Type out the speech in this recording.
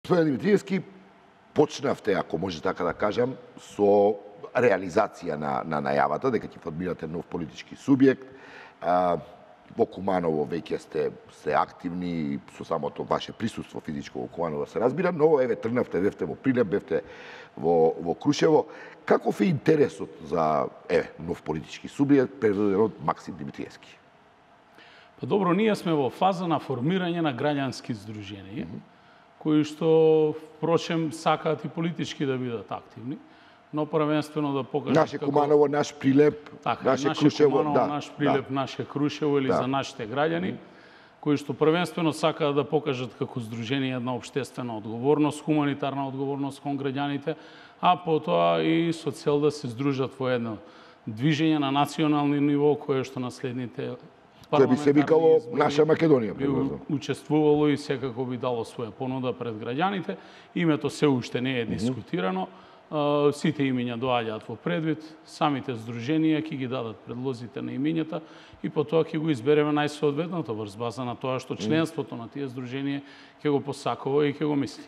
Господин Димитриевски, почнавте, ако може така да кажам, со реализација на најавата дека ќе формирате нов политички субјект. Во Куманово веќе сте активни и со самото ваше присуство физичко во Куманово се разбира, но еве тргнавте, бевте во Прилеп, бевте во Крушево. Каков е интересот за нов политички субјект предводен од Максим Димитриевски? Па добро, ние сме во фаза на формирање на граѓански здруженија, кои што, впрочем, сакаат и политички да бидат активни, но првенствено да покажат наше Куманово, наш Прилеп, наше Крушево, Куманово, наш Прилеп, наше Крушево или за нашите граѓани, кои што првенствено сакаат да покажат како здружение една општествена одговорност, хуманитарна одговорност кон граѓаните, а потоа и со цел да се здружат во едно движење на национални ниво кое што на следните кој би се викало наша Македонија, би учествувало и секако би дало своја понуда пред граѓаните. Името се уште не е дискутирано. Сите имиња доаѓаат во предвид, самите здруженија ќе ги дадат предлозите на имињата и потоа ќе го избереме најсоодветното врз база на тоа што членството на тие здруженија ќе го посакува и ќе го мисли.